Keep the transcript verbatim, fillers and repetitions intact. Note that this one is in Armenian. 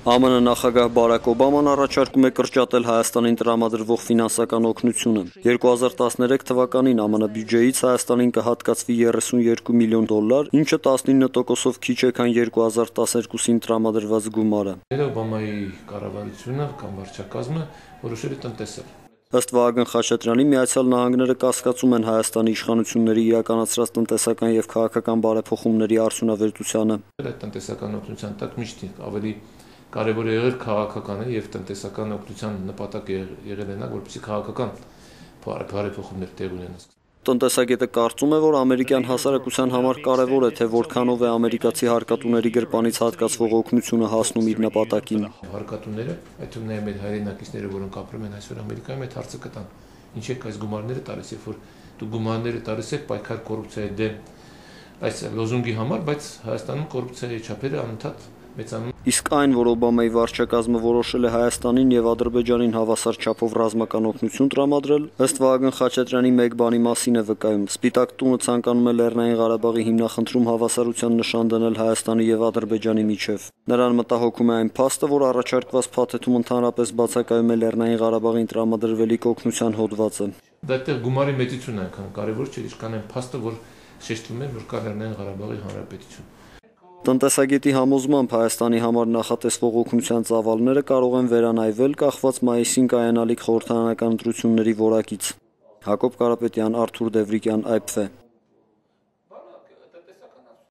Է Մը նախագահ Բարաք Օբաման առաջարկում է կրճատել Հայաստանին տրամադրվող ֆինանսական օգնությունը։ երկու հազար տասներեք թվականին Է Մը բյուջեից Հայաստանին կհատկացվի երեսունյոթ միլիոն դոլար, ինչը տասնինը տոկոսով քիչ է, քան երկու հազար տասներկուսին տրամադրված գումարը։ Օբամայի կառավարությունը կամ վարչակազմը որոշել է տնտեսել։ Ըստ Վահագն Խաչատրյանի, Միացյալ Նահանգները կասկածում են Հայաստանի իշխանությունների իրականացրած տնտեսական եւ քաղաքական բարեփոխումների արդյունավետությանը։ Այդ տնտեսական օգնության տակ միշտ ավելի կարևոր է եղել քաղաքականը եւ տնտեսական օգնության նպատակը եղել է նա, որպեսզի քաղաքական բարեփոխումներ տեղ ունենան։ Տնտեսագետը կարծում է, որ ամերիկյան հասարակության համար կարևոր է, թե որքանով է ամերիկացի հարկատուների գրպանից հատկացվող օգնությունը հասնում իր նպատակին։ Հարկատուները, այդ թվում նաև մեր հայրենակիցները, որոնք ապրում են այսօր Ամերիկայում, այդ հարցը կտան։ Ինչ եք այս գումարները տալիս, երբ որ դու գումարները տալիս եք պայքար կոռուպցիայի դեմ այս լոզունգի համար, բայց Հայաստանում կոռուպցիայի չափերը անընդհատ մեծանում։ Իսկ այն, որ Օբամայի վարչակազմը որոշել է Հայաստանին եւ Ադրբեջանին հավասար չափով ռազմական օգնություն տրամադրել, ըստ Վահագն Խաչատրյանի մեկ բանի մասին է վկայում։ Սպիտակ տունը ցանկանում է Լեռնային Ղարաբաղի հիմնախնդրում հավասարության նշան դնել Հայաստանի եւ Ադրբեջանի միջև։ Նրան մտահոգում է այն փաստը, որ առաջարկված փաթեթում ընդհանրապես բացակայում է Լեռնային Ղարաբաղին տրամադրվելիք օգնության հոդվածը։ Դա այդտեղ գումարի մեծությունն է այնքան կարևոր չէ, ինչքան այն փաստը, որ շեշտվում է, որ կա Լեռնային Ղարաբաղի Հանրապետություն։ Տնտեսագետի համոզմամբ Հայաստանի համար նախատեսվող օգնության ծավալները կարող են վերանայվել կախված մայիսին կայանալիք խորհրդարանական ընտրությունների որակից։ Հակոբ Կարապետյան, Արթուր Դևրիկյան, Այ Փ Ֆ։